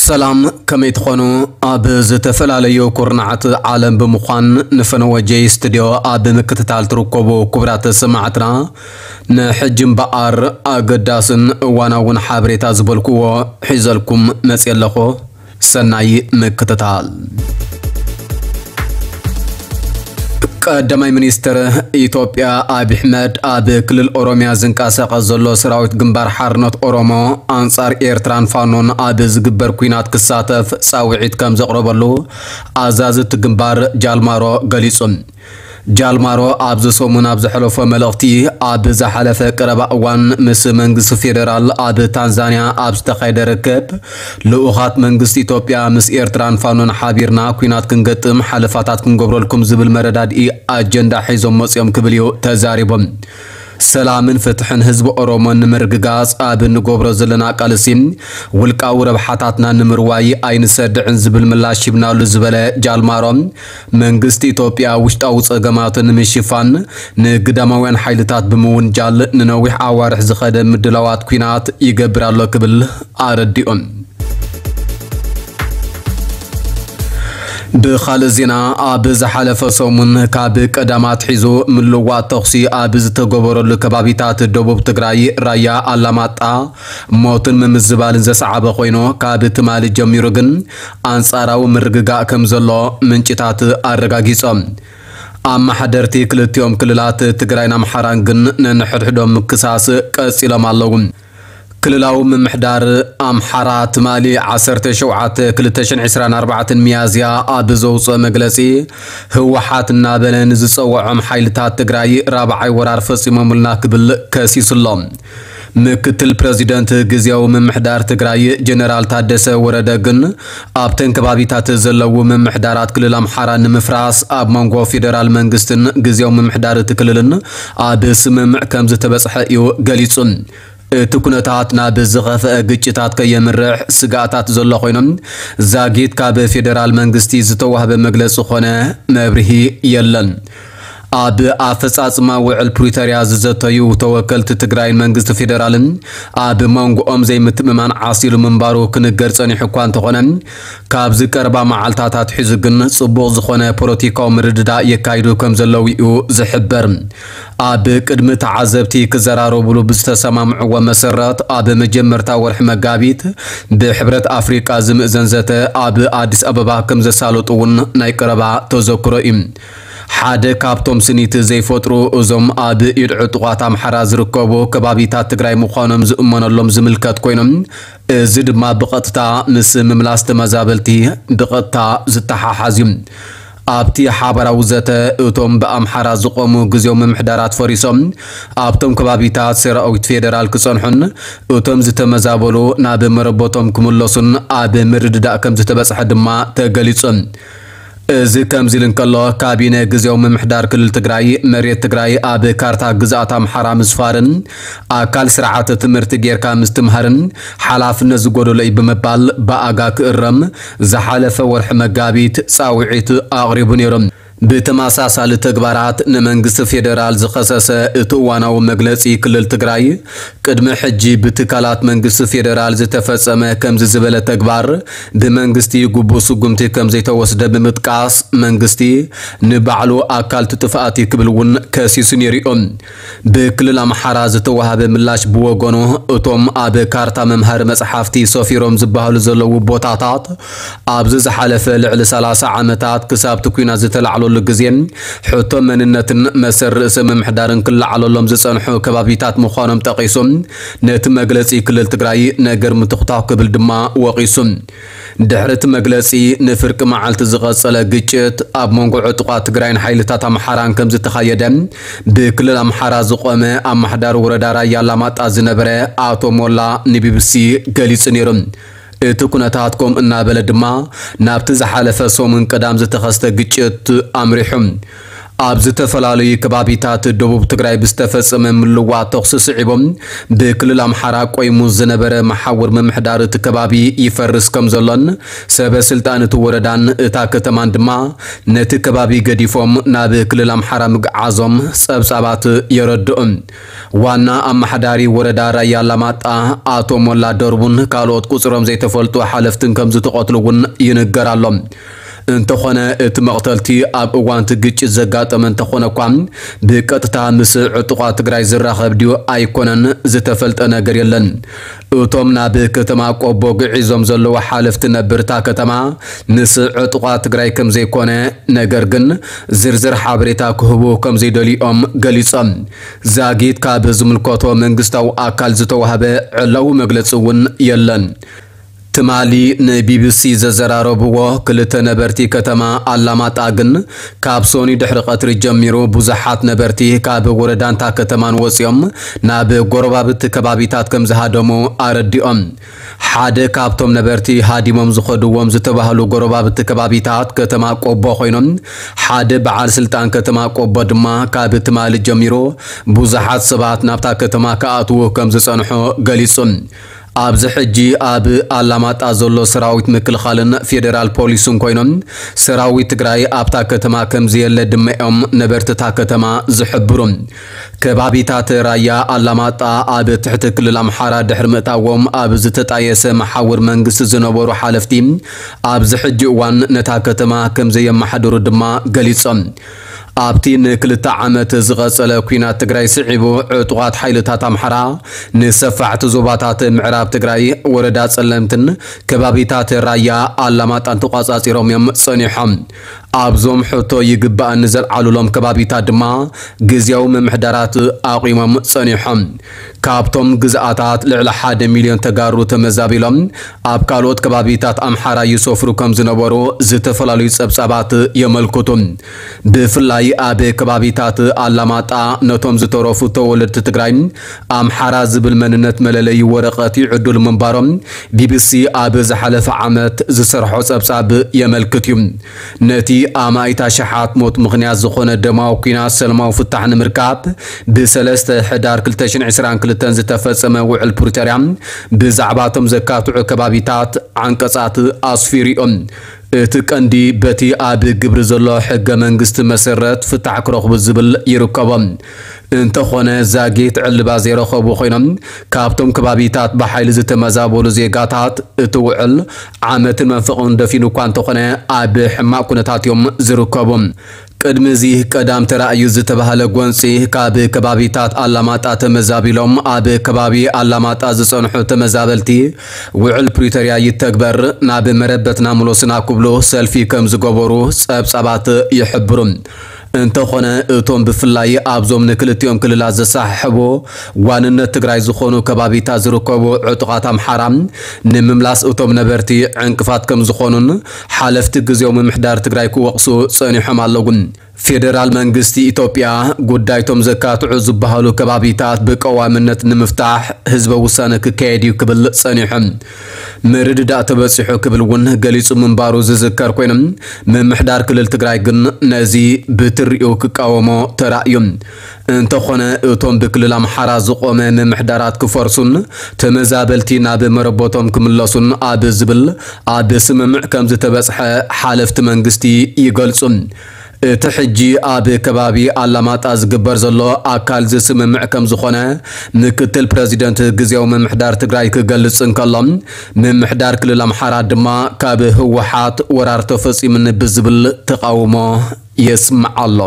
ሰላም፣ ከመይ ትኾኑ? ኣብ ዝተፈላለዩ ኩርናዓት ዓለም ብምዃን ንፈነወ ጄይ ስቱድዮ ኣብ ምክትታል ትርከቡ ክቡራት ሰማዕትና፣ ንሕጂ እምበኣር ኣገዳስን እዋናውን ሓበሬታ ዝበልክዎ ሒዘልኩም መፅየ ኣለኹ። ሰናይ ምክትታል። ቀዳማይ ሚኒስትር ኢትዮጵያ ኣብይ ኣሕመድ፣ ኣብ ክልል ኦሮሚያ ዝንቀሳቐስ ዘሎ ሰራዊት ግንባር ሓርነት ኦሮሞ ኣንጻር ኤርትራን ፋኖን ኣብ ዝግበር ኲናት ክሳተፍ ጻውዒት ከም ዘቕረበሉ ኣዛዚ እቲ ግንባር ጃልማሮ ገሊጹ። ጃልማሮ ኣብዚ ሰሙን ኣብ ዘሕለፎ መልእኽቲ፣ ኣብ ዝሓለፈ ቀረባ እዋን ምስ መንግስቲ ፌደራል ኣብ ታንዛንያ ኣብ ዝተኻየደ ርክብ፣ ልኡኻት መንግስቲ ኢትዮጵያ ምስ ኤርትራን ፋኖን ሓቢርና ኲናት ክንገጥም ሓለፋታት ክንገብረልኩም ዝብል መረዳድኢ ኣጀንዳ ሒዞም መጽዮም ክብል እዩ ተዛሪቦም። ሰላምን ፍትሕን ህዝቢ ኦሮሞ ንምርግጋጽ ኣብ እንገብሮ ዘለና ቃልሲ፣ ውልቃዊ ረብሓታትና ንምርዋይ ኣይንሰድዕን ዝብል ምላሽ ሂብናሉ ዝበለ ጃልማሮ፣ መንግስቲ ኢትዮጵያ ውሽጣዊ ጸገማቱ ንምሽፋን ንግዳማውያን ሓይልታት ብምውንጃል ንነዊሕ ኣዋርሕ ዝኸደ ምድላዋት ኲናት ይገብር ኣሎ ክብል ኣረዲኡ። ብኻልእ ዜና፣ ኣብ ዝሓለፈ ሰሙን ካብ ቀዳም ኣትሒዙ ምልዋጥ ተኹሲ ኣብ ዝተገበረሉ ከባቢታት ደቡብ ትግራይ ራያ ኣላማጣ ሞትን ምምዝባልን ዘሰዓበ ኮይኑ፣ ካብ ትማሊ ጀሚሩ ግን ኣንጻራዊ ምርግጋእ ከም ዘሎ ምንጭታት ኣረጋጊጾም። ኣመሓደርቲ ክልቲኦም ክልላት ትግራይን ኣምሓራን ግን ነንሕድሕዶም ምክሳስ ቀጺሎም ኣለዉ። ክልላዊ ምምሕዳር ኣምሓራ ትማሊ ዓሰርተ ሸውዓተ ክልተ ሽሕን ዕስራን ኣርባዕተን ሚያዝያ ኣብ ዘውፅኦ መግለፂ፣ ህወሓት እናበለ ንዝፀውዖም ሓይልታት ትግራይ ራብዓይ ወራር ፈፂሞምልና ክብል ከሲሱ ኣሎ። ምክትል ፕረዚደንት ግዝያዊ ምምሕዳር ትግራይ ጀነራል ታደሰ ወረደ ግን፣ ኣብተን ከባቢታት ዘለዉ ምምሕዳራት ክልል ኣምሓራ ንምፍራስ ኣብ መንጎ ፌደራል መንግስትን ግዝያዊ ምምሕዳር እቲ ክልልን ኣብ ስምምዕ ከም ዝተበፅሐ እዩ ገሊጹ። እቲ ኩነታት ናብ ዝኸፍአ ግጭታት ከየምርሕ ስግኣታት ዘሎ ኮይኖም፣ ዛጊት ካብ ፌደራል መንግስቲ ዝተዋህበ መግለጺ ኾነ መብርሂ የለን። ኣብ ኣፈጻጽማ ውዕል ፕሪቶርያ ዝዘተዩ ተወከልቲ ትግራይን መንግስቲ ፌደራልን ኣብ መንጎኦም ዘይምትእምማን ዓሲሉ ምንባሩ ክንገር ጸኒሑ እኳ እንተኾነ፣ ካብዚ ቀረባ መዓልታት ኣትሒዙ ግን ጽቡቕ ዝኾነ ፖለቲካዊ ምርድዳእ የካይዱ ከም ዘለዉ እዩ ዝሕበር። ኣብ ቅድሚ ተዓዘብቲ ክዘራረቡሉ ብዝተሰማምዕዎ መሰረት፣ ኣብ መጀመርታ ወርሒ መጋቢት ብሕብረት ኣፍሪቃ ዝምእዘን ዘተ ኣብ ኣዲስ ኣበባ ከም ዘሳለጡ እውን ናይ ቀረባ ተዘክሮ እዩ። ሓደ ካብቶም ስኒት ዘይፈጥሩ እዞም ኣብ ኢድ ዕጡቓት ኣምሓራ ዝርከቡ ከባቢታት ትግራይ ምዃኖም ዝእመነሎም ዝምልከት ኮይኖም፣ እዚ ድማ ብቐጥታ ምስ ምምላስ ተመዛበልቲ ብቐጥታ ዝተሓሓዝ እዩ። ኣብቲ ሓባራዊ ዘተ፣ እቶም ብኣምሓራ ዝቖሙ ግዜያዊ ምምሕዳራት ፈሪሶም፣ ኣብቶም ከባቢታት ሰራዊት ፌደራል ክጸንሑን እቶም ዝተመዛበሉ ናብ መረበቶም ክምለሱን ኣብ ምርድዳእ ከም ዝተበጽሐ ድማ ተገሊጹ። እዚ ከምዚ ኢሉ እንከሎ፣ ካቢነ ግዜያዊ ምምሕዳር ክልል ትግራይ፣ መሬት ትግራይ ኣብ ካርታ ግዝኣት ኣምሓራ ምስፋርን ኣካል ስርዓተ ትምህርቲ ጌርካ ምስትምሃርን ሓላፍነት ዝጎደሎ እዩ ብምባል፣ ብኣጋ ክእረም ዝሓለፈ ወርሒ መጋቢት ጻውዒት ኣቕሪቡ ነይሩ። ብተመሳሳሊ ተግባራት ንመንግስቲ ፌደራል ዝኸሰሰ እቲ እዋናዊ መግለጺ ክልል ትግራይ፣ ቅድሚ ሕጂ ብትካላት መንግስቲ ፌደራል ዝተፈጸመ ከምዚ ዝበለ ተግባር ብመንግስቲ ግቡእ ስጉምቲ ከም ዘይተወስደ ብምጥቃስ፣ መንግስቲ ንባዕሉ ኣካል ትጥፍኣት እዩ ክብል እውን ከሲሱ ነይሩ እዩ። ብክልል ኣምሓራ ዝተዋሃበ ምላሽ ብወገኑ፣ እቶም ኣብ ካርታ መምሃሪ መጽሓፍቲ ሰፊሮም ዝበሃሉ ዘለዉ ቦታታት፣ ኣብዚ ዝሓለፈ ልዕሊ ሰላሳ ዓመታት ክሳብ እቲ ኲናት ዝተላዕለሉ ግዜ፣ ሕቶ መንነትን መሰል ርእሰ ምምሕዳርን ክለዓለሎም ዝጸንሑ ከባቢታት ምዃኖም ጠቒሱ፣ ነቲ መግለጺ ክልል ትግራይ ነገር ምትኹታኹ ክብል ድማ ወቒሱ። ድሕሪ እቲ መግለጺ፣ ንፍርቂ መዓልቲ ዝቐጸለ ግጭት ኣብ መንጎ ዕጡቓት ትግራይን ሓይልታት ኣምሓራን ከም ዝተኻየደ፣ ብክልል ኣምሓራ ዝቖመ ኣማሕዳሪ ወረዳ ራያ ኣላማጣ ዝነበረ ኣቶ ሞላ ንቢቢሲ ገሊጹ ነይሩ። እቲ ኩነታት ከምኡ እናበለ ድማ፣ ናብቲ ዝሓለፈ ሰሙን ቀዳም ዝተኸስተ ግጭት ኣምሪሑ። ኣብ ዝተፈላለዩ ከባቢታት ደቡብ ትግራይ ብዝተፈጸመ ምልዋጥ ተኹሲ ስዒቦም ብክልል ኣምሓራ ቆይሙ ዝነበረ መሓውር ምምሕዳር እቲ ከባቢ ይፈርስ ከም ዘሎን ሰበ ስልጣን እቲ ወረዳን እታ ከተማን ድማ ነቲ ከባቢ ገዲፎም ናብ ክልል ኣምሓራ ምግዓዞም ጸብጻባት የረድኡ። ዋና ኣመሓዳሪ ወረዳ ራያ ኣላማጣ ኣቶ ሞላ ደርቡን ካልኦት ቁጽሮም ዘይተፈልጡ ሓለፍትን ከም ዝተቐትሉ እውን ይንገር ኣሎ። እንተኾነ እቲ መቕተልቲ ኣብ እዋን እቲ ግጭት ዘጋጠመ እንተኾነ እኳ ብቀጥታ ምስ ዕጡቓት ትግራይ ዝራኸብ ድዩ ኣይኮነን ዝተፈልጠ ነገር የለን። እቶም ናብ ከተማ ቆቦ ግዒዞም ዘለዉ ሓለፍቲ ነበር እታ ከተማ ምስ ዕጡቓት ትግራይ ከም ዘይኮነ ነገር ግን ዝርዝር ሓበሬታ ክህቡ ከም ዘይደልዮም ገሊጾም። ዛጊት ካብ ዝምልከቶ መንግስታዊ ኣካል ዝተዋህበ ዕላዊ መግለጺ እውን የለን። ትማሊ ንቢቢሲ ዘዘራረብዎ ክልተ ነበርቲ ከተማ ኣላማጣ ግን ካብ ሶኒ ድሕሪ ቀትሪ ጀሚሩ ብዙሓት ነበርቲ ካብ ወረዳንታ ከተማን ወፂኦም ናብ ጎረባብቲ ከባቢታት ከም ዝሃደሙ ኣረዲኦም። ሓደ ካብቶም ነበርቲ ሃዲሞም ዝኸድዎም ዝተባህሉ ጎረባብቲ ከባቢታት ከተማ ቆቦ ኮይኖም ሓደ በዓል ስልጣን ከተማ ቆቦ ድማ ካብ ትማሊ ጀሚሩ ብዙሓት ሰባት ናብታ ከተማ ክኣትዉ ከም ዝጸንሑ ገሊጹ። ኣብዚ ሕጂ ኣብ ኣላማጣ ዘሎ ሰራዊት ምክልኻልን ፌዴራል ፖሊስን ኮይኖም ሰራዊት ትግራይ ኣብታ ከተማ ከም ዘየለ ድማ እዮም ነበርትታ ከተማ ዝሕብሩ። ከባቢታት ራያ ኣላማጣ ኣብ ትሕቲ ክልል ኣምሓራ ድሕሪ ምእታዎም ኣብ ዝተጣየሰ መሓውር መንግስቲ ዝነበሩ ሓለፍቲ ኣብዚ ሕጂ እዋን ነታ ከተማ ከም ዘየመሓድሩ ድማ ገሊጾም። ኣብቲ ንክልተ ዓመት ዝቐጸለ ኲናት ትግራይ ስዒቡ ዕጡቓት ሓይልታት ኣምሓራ ንሰፋሕቲ ዞባታት ምዕራብ ትግራይ ወረዳ ጸለምትን ከባቢታት ራያ ኣላማጣን ተቋጻጺሮም እዮም ጸኒሖም። ኣብዞም ሕቶ ይግባእኒ ዘልዓሉሎም ከባቢታት ድማ ግዝያዊ ምምሕዳራት ኣቑሞም ጸኒሖም። ካብቶም ግዝኣታት ልዕሊ ሓደ ሚልዮን ተጋሩ ተመዛቢሎም ኣብ ካልኦት ከባቢታት ኣምሓራ ይሰፍሩ ከም ዝነበሩ ዝተፈላለዩ ጸብጻባት የመልክቱ። ብፍላይ ኣብ ከባቢታት ኣላማጣ ነቶም ዝተረፉ ተወለድቲ ትግራይ ኣምሓራ ዝብል መንነት መለለዪ ወረቐት ይዕድሉ ምንባሮም ቢቢሲ ኣብ ዝሓለፈ ዓመት ዝሰርሖ ጸብጻብ የመልክት እዩ። ነቲ ኣማኢት ኣሽሓት ሞት ምኽንያት ዝኾነ ደማዊ ኲናት ሰላማዊ ፍታሕ ንምርካብ ብሰለስተ ሕዳር ክልተ ሽሕን ዕስራን ክልተን ዝተፈጸመ ውዕል ፕሪቶርያ ብዛዕባ እቶም ዘካትዑ ከባቢታት ዓንቀጻት ኣስፊሩ እዩ። እቲ ቀንዲ በቲ ኣብ ግብሪ ዘሎ ሕገ መንግስቲ መሰረት ፍታሕ ክረኽቡ ዝብል ይርከቦ። እንተኾነ ዛጊት ዕልባ ዘይረኸቡ ኮይኖም ካብቶም ከባቢታት ብሓይሊ ዝተመዛበሉ ዜጋታት እቲ ውዕል ዓመትን መንፈቕን ደፊኑ እኳ እንተኾነ ኣብ ሕማቕ ኩነታት እዮም ዝርከቡ። ቅድሚ እዚ ቀዳም ተራእዩ ዝተባህለ ጎንፂ ካብ ከባቢታት ኣላማጣ ተመዛቢሎም ኣብ ከባቢ ኣላማጣ ዝፀንሑ ተመዛበልቲ ውዕል ፕሪቶርያ ይተግበር፣ ናብ መረበትና ምሎስና ክብሉ ሰልፊ ከም ዝገበሩ ፀብፃባት ይሕብሩ። እንተኾነ እቶም ብፍላይ ኣብዞም ንክልቲኦም ክልላት ዘሰሓሕቡ ዋንነት ትግራይ ዝኾኑ ከባቢታት ዝርከቡ ዕጡቓት ኣምሓራ ንምምላስ እቶም ነበርቲ ዕንቅፋት ከም ዝኾኑን ሓለፍቲ ግዜያዊ ምምሕዳር ትግራይ ክወቕሱ ጸኒሖም ኣለዉ። ፌደራል መንግስቲ ኢትዮጵያ ጉዳይቶም ዘካትዑ ዝበሃሉ ከባቢታት ብቀዋምነት ንምፍታሕ ህዝበ ውሳነ ክካየድ እዩ ክብል ጸኒሑ። ምርድዳእ ተበጺሑ ክብል እውን ገሊጹ ምንባሩ ዝዝከር ኮይኑ፣ ምምሕዳር ክልል ትግራይ ግን ነዚ ብትሪኡ ክቃወሞ ተራእዩ። እንተኾነ እቶም ብክልል ኣምሓራ ዝቖመ ምምሕዳራት ክፈርሱን ተመዛበልቲ ናብ መረቦቶም ክምለሱን ኣብ ዝብል ኣብ ስምምዕ ከም ዝተበጽሐ ሓለፍቲ መንግስቲ ይገልጹ። እቲ ሕጂ ኣብ ከባቢ ኣላማጣ ዝግበር ዘሎ ኣካል ዝስምምዕ ከም ዝኾነ ምክትል ፕረዚደንት ግዜያዊ ምምሕዳር ትግራይ ክገልጽ እንከሎ፣ ምምሕዳር ክልል ኣምሓራ ድማ ካብ ህወሓት ወራር ተፈጺሙኒ ብዝብል ተቓውሞ የስምዕ ኣሎ።